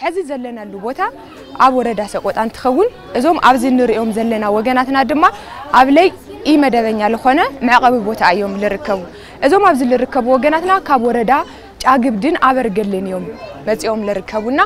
ሕዚ ዘለናሉ ቦታ ኣብ ወረዳ ሰቆጣ እንትኸውን፣ እዞም ኣብዚ ንሪኦም ዘለና ወገናትና ድማ ኣብ ለይ ኢመደበኛ ዝኾነ መዕቐቢ ቦታ እዮም ልርከቡ። እዞም ኣብዚ ልርከቡ ወገናትና ካብ ወረዳ ጫግብድን ኣበርገሌን እዮም መፂኦም ልርከቡና።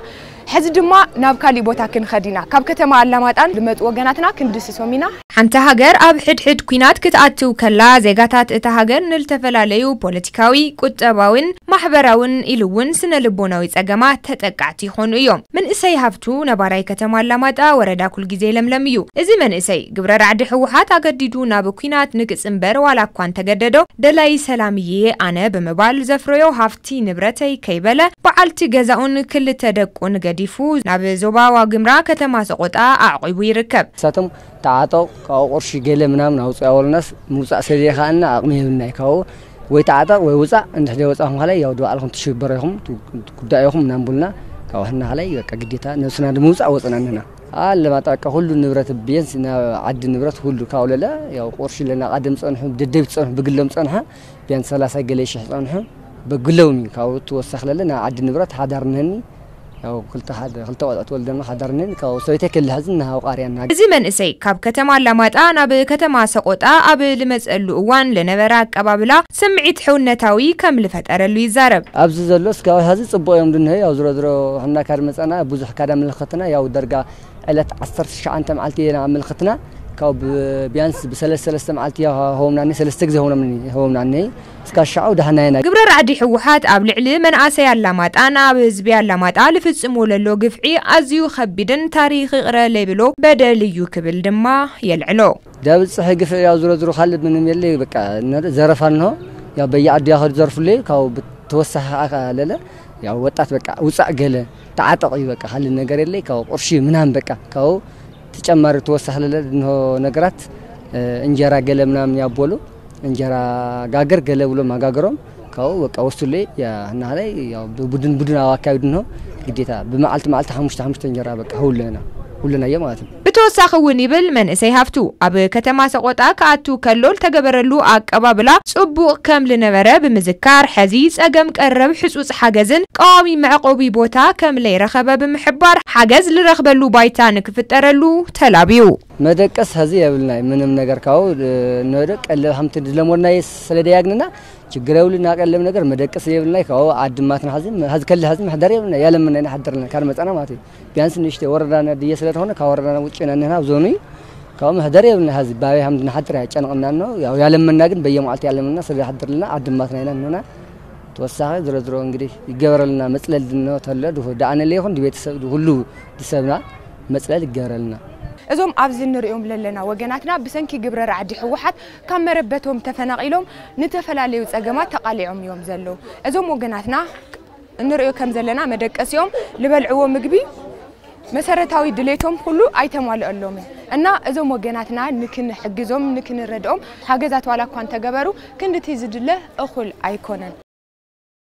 ሕዚ ድማ ናብ ካሊእ ቦታ ክንኸድ ኢና። ካብ ከተማ ኣላማጣን ልመፁ ወገናትና ክንድስሶም ኢና። ሓንቲ ሃገር ኣብ ሕድሕድ ኲናት ክትኣትው ከላ፣ ዜጋታት እታ ሃገር ንልተፈላለዩ ፖለቲካዊ፣ ቁጠባዊን ማሕበራውን ኢሉ እውን ስነ ልቦናዊ ጸገማት ተጠቃዕቲ ይኾኑ እዮም። መንእሰይ ሃፍቱ ነባራይ ከተማ ኣላማጣ ወረዳ ኩልጊዜ ለምለም እዩ። እዚ መንእሰይ ግብረ ራዕዲ ህወሓት ኣገዲዱ ናብ ኲናት ንክጽንበር ዋላ እኳ እንተገደዶ፣ ደላይ ሰላም እየ ኣነ ብምባል ዘፍረዮ ሃፍቲ ንብረተይ ከይበለ በዓልቲ ገዛኡን ክልተ ደቁን ገዲፉ ናብ ዞባ ዋግምራ ከተማ ሰቆጣ ኣዕቒቡ ይርከብ። ንሳቶም ተዓጠቕ፣ ካብኡ ቅርሺ ገለ ምናምን ኣውፅእ ኣበሉናስ ምውፃእ ስለዘይከኣልና ኣቕሚ የብልናይ። ካብኡ ወይ ተዓጠቕ ወይ ውፃእ፣ እንድሕር ዘይወፃእኹም ከላይ ያው ድባዕልኹም ትሽበሩ ኢኹም፣ ትጉዳእ ኢኹም እናንቡልና፣ ካብኡ ሕና ከላይ በቃ ግዴታ ነብስና ንምውፃእ ወፅና እንህና። ኣለማጣ በቃ ኩሉ ንብረት ቢያንስ ናብ ዓዲ ንብረት ሁሉ ካብኡ ለለ ያው ቁርሺ ለና ቃደም ፀንሑ፣ ደደቢት ፀንሑ፣ ብግሎም ፀንሐ ቢያንስ ሰላሳ ገለ ሽሕ ፀንሑ፣ ብግሎም እዩ። ካብኡ ትወሰኽ ለለ ናብ ዓዲ ንብረት ሓዳር ንህኒ፣ ያው ክልተ ሓደ፣ ክልተ ቆልዑት ወልደና ሓዳርንን ካብ ሰበይተይ ክልሕዝን ንሃው ቃርያና። እዚ መንእሰይ ካብ ከተማ ኣላማጣ ናብ ከተማ ሰቆጣ ኣብ ልመጸሉ እዋን ለነበረ ኣቀባብላ ስምዒት ሕውነታዊ ከም ልፈጠረሉ ይዛረብ። ኣብዚ ዘሎ እስካብ ሀዚ ጽቡቕ እዮም ድንሀ፣ ያው ዝሮ ዝሮ ሕና ካድ መጸና ብዙሕ ካዳ ምልክትና ያው ደርጋ ዕለት ዓሰርተ ትሽዓተ መዓልቲ ኢና ምልክትና ካብ ብ-፣ ቢያንስ ብሰለስተ ሰለስተ መዓልቲ ያው ሆምናኒ ሰለስተ ግዜ ሆምናኒ፣ ሆምናኒ እስካ ሻዑ ዳሕና ኢና። ግብረ ራዕዲ ህወሓት ኣብ ልዕሊ መናእሰይ ኣላማጣን ኣብ ህዝቢ ኣላማጣ ልፍጽሞ ለሎ ግፍዒ ኣዝዩ ከቢድን ታሪኽ ይቕረ ለይብሎ በደል እዩ ክብል ድማ የልዕሎ። ዳብል ጽሒ ግፍዒ ያው ዝሮ ዝሮ ካልእ ምንም የለ፣ በቃ፣ እነ-፣ ዘረፋ እንሆ፣ ያው በየዓዲ ያኸዱ ዘርፉለይ፣ ካብ ብተወሳኺ ኣካ ለለ፣ ያው ወጣት በቃ ውጻእ ገለ፣ ተዓጠቕ እዩ በቃ፣ ካልእ ነገር የለይ፣ ካብ ቁርሺ ምናምን በቃ፣ ካብ ተጨማሪ ተወሳኺ ለለ እንሆ ነገራት፣ እ፣ እንጀራ ገለ ምናምን ያቦሉ፣ እንጀራ ጋገር ገለ ብሎም ኣጋገሮም፣ ካብኡ በቃ ወስዱለይ፣ ያ፣ እናሃለይ፣ ያው ብቡድን ቡድን ኣብ ኣካቢዱ እንሆ፣ ግዴታ ብመዓልቲ መዓልቲ ሓሙሽተ ሓሙሽተ እንጀራ በቃ ሁለና፣ ሁለናዮ ማለት ነው። ብተወሳኺ እውን ይብል መንእሰይ ሃፍቱ፣ ኣብ ከተማ ሰቆጣ ክኣቱ ከሎ ልተገበረሉ ኣቀባብላ ጽቡቕ ከም ልነበረ ብምዝካር፣ ሕዚ ጸገም ቀረብ ሕጹጽ ሓገዝን ቀዋሚ መዕቆቢ ቦታ ከም ለይረኸበ ብምሕባር፣ ሓገዝ ልረኽበሉ ባይታ ንክፍጠረሉ ተላብዩ። መደቀስ ሀዚ የብልናይ ምንም ነገር ካብኡ፣ እ፣ ንወደ ቀለብ ሓምቲ ድለሞድናይ ስለ ደያግንና ችግር የብልና ቀለብ ነገር መደቀስ የብልናይ ካብኡ ዓድማትና ሀዚ፣ ሀዚ ከለ ሀዚ መሕደር የብልና ያለምና ኢና ሓደርና ካድ መጻና ማለት እዩ። ቢያንስ ንእሽተይ ወረዳና ድየ ስለ ዝኾነ ካብ ወረዳና ውጭ ኢና እንህና ኣብ ዞኑ እዩ። ካብኡ መሕደር የብልና ሀዚ ባበይ ሓምድ ንሓድር ያጨንቕና ነው። ያው ያለምና ግን በየመዓልቲ ያለምና ስለ ሓድርልና ዓድማትና ኢና እንህና። ተወሳኺ ዝሮ ዝሮ እንግዲህ ይገበረልና መጽለል ድኖ ተሎ ድሁ ደኣነለ ይኹን ድቤተሰብ ሁሉ ድሰብና መጽለል ይገበረልና። እዞም ኣብዚ እንሪኦም ለለና ወገናትና ብሰንኪ ግብረ ራዕዲ ህወሓት ካብ መረበቶም ተፈናቒሎም ንተፈላለዩ ጸገማት ተቓሊዖም እዮም ዘለዉ። እዞም ወገናትና እንሪኦ ከም ዘለና መደቀሲኦም፣ ልበልዕዎ ምግቢ፣ መሰረታዊ ድሌቶም ኩሉ ኣይተማልአሎምን እና እዞም ወገናትና ንክንሕግዞም፣ ንክንረድኦም ሓገዛት ዋላ እኳ እንተገበሩ ክንድቲ ዝድለ እኹል ኣይኮነን።